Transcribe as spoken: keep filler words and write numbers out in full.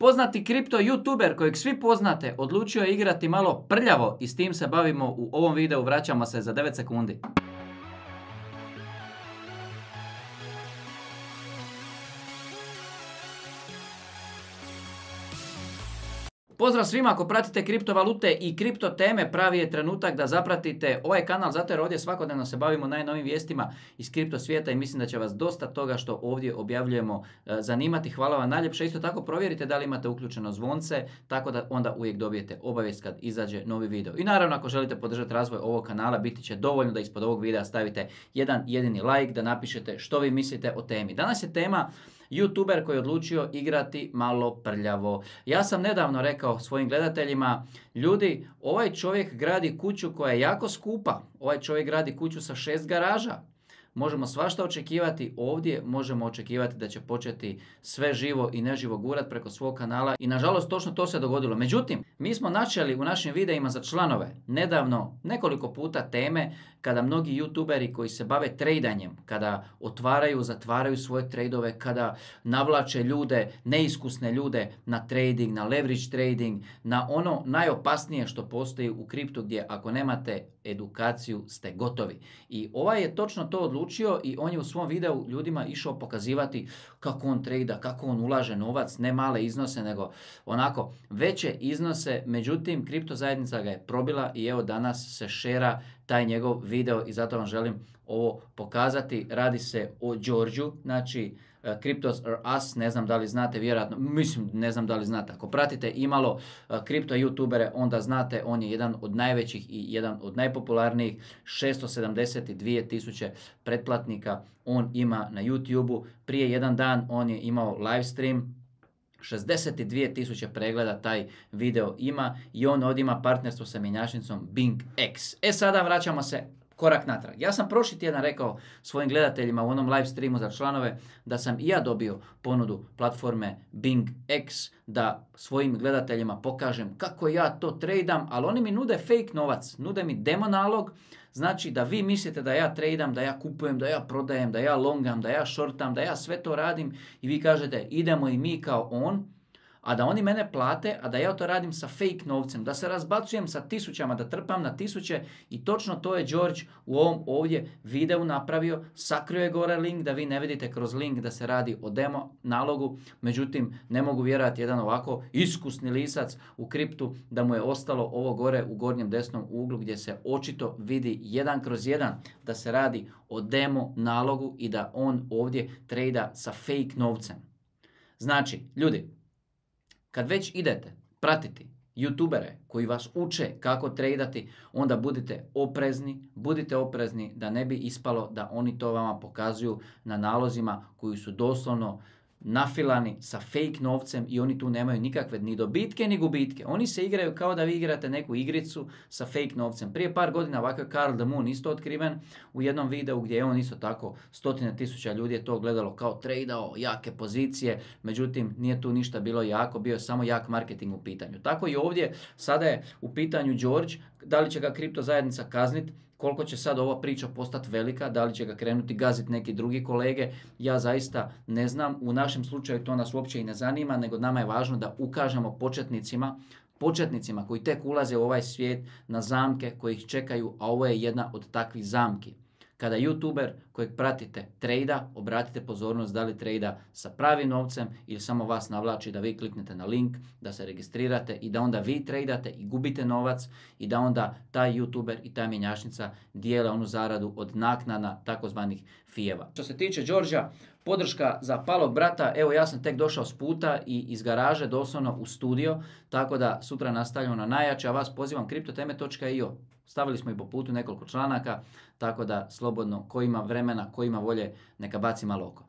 Poznati kripto youtuber kojeg svi poznate odlučio je igrati malo prljavo i s tim se bavimo u ovom videu. Vraćamo se za devet sekundi. Pozdrav svima, ako pratite kriptovalute i kripto teme, pravi je trenutak da zapratite ovaj kanal, zato jer ovdje svakodnevno se bavimo najnovim vijestima iz kripto svijeta i mislim da će vas dosta toga što ovdje objavljujemo zanimati. Hvala vam najljepše. Isto tako provjerite da li imate uključeno zvonce, tako da onda uvijek dobijete obavijest kad izađe novi video. I naravno, ako želite podržati razvoj ovog kanala, biti će dovoljno da ispod ovog videa stavite jedan jedini like, da napišete što vi mislite o temi. Danas je tema YouTuber koji je odlučio igrati malo prljavo. Ja sam nedavno rekao svojim gledateljima, ljudi, ovaj čovjek gradi kuću koja je jako skupa. Ovaj čovjek gradi kuću sa šest garaža. Možemo svašta očekivati ovdje, možemo očekivati da će početi sve živo i neživo gurat preko svog kanala i nažalost točno to se dogodilo. Međutim, mi smo načeli u našim videima za članove nedavno nekoliko puta teme kada mnogi youtuberi koji se bave trejdanjem, kada otvaraju, zatvaraju svoje trejdove, kada navlače ljude, neiskusne ljude na trading, na leverage trading, na ono najopasnije što postoji u kriptu gdje ako nemate edukaciju ste gotovi. I ovaj je točno to odlučio i on je u svom videu ljudima išao pokazivati kako on trejda, kako on ulaže novac, ne male iznose nego onako veće iznose. Međutim, kripto zajednica ga je probila i evo danas se šera taj njegov video i zato vam želim ovo pokazati. Radi se o Đorđu, znači uh, Cryptos are us, ne znam da li znate, vjerojatno, mislim ne znam da li znate. Ako pratite imalo uh, kripto youtubere, onda znate, on je jedan od najvećih i jedan od najpopularnijih, šesto sedamdeset dvije tisuće pretplatnika on ima na YouTubeu. Prije jedan dan on je imao live stream, šezdeset dvije tisuće pregleda taj video ima i on ovdje ima partnerstvo sa mjenjačnicom BingX. E sada vraćamo se korak natrag. Ja sam prošli tjedan rekao svojim gledateljima u onom live streamu za članove da sam i ja dobio ponudu platforme BingX da svojim gledateljima pokažem kako ja to tradam, ali oni mi nude fake novac, nude mi demo nalog. Znači da vi mislite da ja tradam, da ja kupujem, da ja prodajem, da ja longam, da ja shortam, da ja sve to radim i vi kažete idemo i mi kao on, a da oni mene plate, a da ja to radim sa fake novcem, da se razbacujem sa tisućama, da trpam na tisuće i točno to je George u ovom ovdje videu napravio. Sakrio je gore link da vi ne vidite kroz link da se radi o demo nalogu, međutim ne mogu vjerovati jedan ovako iskusni lisac u kriptu da mu je ostalo ovo gore u gornjem desnom uglu gdje se očito vidi jedan kroz jedan da se radi o demo nalogu i da on ovdje trejda sa fake novcem. Znači, ljudi, kad već idete pratiti youtubere koji vas uče kako tradati, onda budite oprezni, budite oprezni da ne bi ispalo da oni to vama pokazuju na nalozima koji su doslovno nafilani sa fake novcem i oni tu nemaju nikakve ni dobitke ni gubitke. Oni se igraju kao da vi igrate neku igricu sa fake novcem. Prije par godina ovako je Karl the Moon isto otkriven u jednom videu gdje je on isto tako stotine tisuća ljudi je to gledalo kao tradao, jake pozicije, međutim nije tu ništa bilo jako, bio je samo jak marketing u pitanju. Tako i ovdje sada je u pitanju George, da li će ga kripto zajednica kazniti, koliko će sad ova priča postati velika, da li će ga krenuti gaziti neki drugi kolege, ja zaista ne znam. U našem slučaju to nas uopće i ne zanima, nego nama je važno da ukažemo početnicima, početnicima koji tek ulaze u ovaj svijet na zamke koji ih čekaju, a ovo je jedna od takvih zamki. Kada youtuber kojeg pratite trejda, obratite pozornost da li trejda sa pravim novcem ili samo vas navlači da vi kliknete na link, da se registrirate i da onda vi trejdate i gubite novac i da onda taj youtuber i ta mjenjačnica dijele onu zaradu od naknada takozvanih fijeva. Što se tiče Đorđa, podrška za palog brata, evo ja sam tek došao s puta i iz garaže doslovno u studio, tako da sutra nastavljamo na najjače, a vas pozivam kriptoteme točka i o. Stavili smo i po putu nekoliko članaka, tako da slobodno ko ima vremena, ko ima volje, neka baci malo oko.